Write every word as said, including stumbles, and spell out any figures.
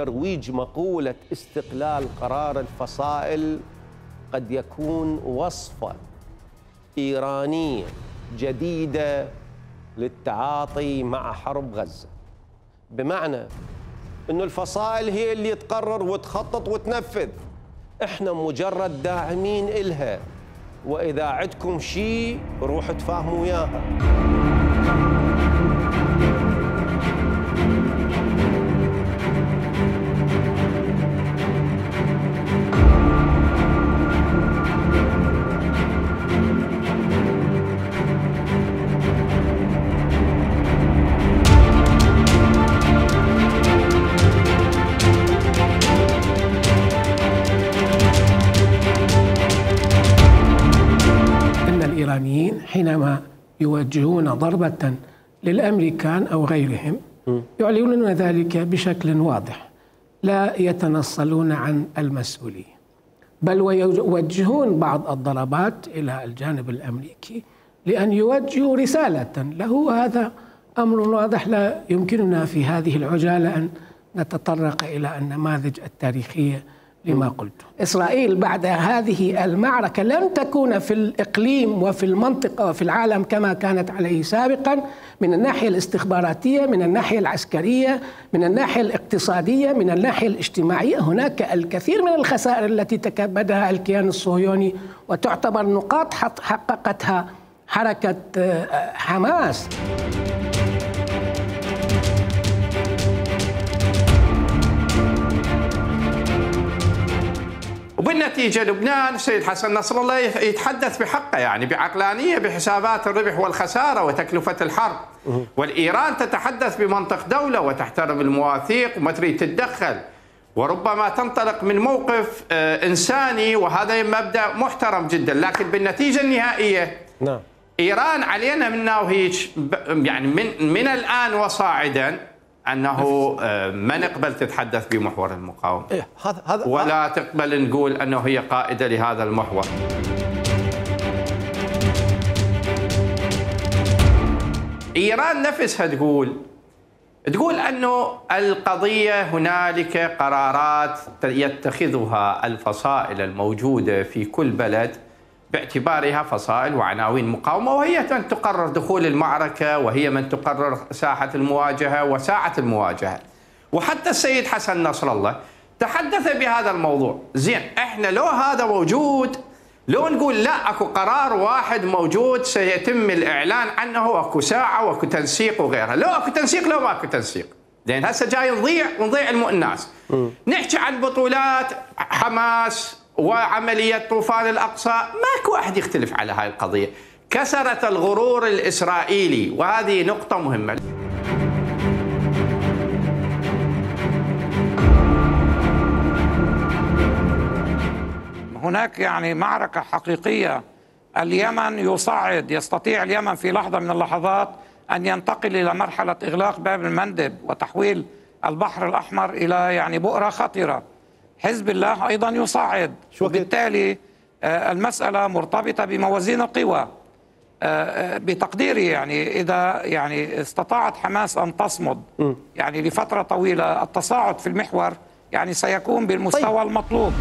ترويج مقولة استقلال قرار الفصائل قد يكون وصفة إيرانية جديدة للتعاطي مع حرب غزة، بمعنى إنه الفصائل هي اللي تقرر وتخطط وتنفذ، إحنا مجرد داعمين إلها، وإذا عندكم شيء روحوا تفاهموا وياها. الإيرانيين حينما يوجهون ضربة للأمريكان أو غيرهم يعلنون ذلك بشكل واضح، لا يتنصلون عن المسؤولية، بل ويوجهون بعض الضربات إلى الجانب الأمريكي لأن يوجهوا رسالة له. هذا أمر واضح، لا يمكننا في هذه العجالة أن نتطرق إلى النماذج التاريخية لما قلت. إسرائيل بعد هذه المعركة لم تكون في الإقليم وفي المنطقة وفي العالم كما كانت عليه سابقا، من الناحية الاستخباراتية، من الناحية العسكرية، من الناحية الاقتصادية، من الناحية الاجتماعية. هناك الكثير من الخسائر التي تكبدها الكيان الصهيوني، وتعتبر نقاط حققتها حركة حماس. وبالنتيجة لبنان السيد حسن نصر الله يتحدث بحقه، يعني بعقلانية، بحسابات الربح والخسارة وتكلفة الحرب، والإيران تتحدث بمنطق دولة وتحترم المواثيق وما تريد تتدخل، وربما تنطلق من موقف إنساني، وهذا مبدأ محترم جدا. لكن بالنتيجة النهائية نعم إيران علينا منا وهيك يعني من, من الآن وصاعدا أنه ما نقبل تتحدث بمحور المقاومة، إيه هذا هذا ولا تقبل نقول أنه هي قائدة لهذا المحور. إيران نفسها تقول تقول أنه القضية هنالك قرارات يتخذها الفصائل الموجودة في كل بلد باعتبارها فصائل وعناوين مقاومة، وهي من تقرر دخول المعركة، وهي من تقرر ساحة المواجهة وساعة المواجهة. وحتى السيد حسن نصر الله تحدث بهذا الموضوع. زين، احنا لو هذا موجود، لو نقول لا اكو قرار واحد موجود سيتم الاعلان عنه، واكو ساعة واكو تنسيق وغيرها، لو اكو تنسيق لو ما اكو تنسيق، لان هسه جاي نضيع ونضيع الناس. نحكي عن بطولات حماس وعملية طوفان الأقصى، ماكو أحد يختلف على هاي القضية. كسرت الغرور الإسرائيلي، وهذه نقطة مهمة. هناك يعني معركة حقيقية. اليمن يصعد، يستطيع اليمن في لحظة من اللحظات أن ينتقل إلى مرحلة إغلاق باب المندب وتحويل البحر الأحمر إلى يعني بؤرة خطرة. حزب الله أيضا يصعد، وبالتالي المسألة مرتبطة بموازين القوى. بتقديري يعني إذا يعني استطاعت حماس أن تصمد يعني لفترة طويلة، التصاعد في المحور يعني سيكون بالمستوى طيب. المطلوب.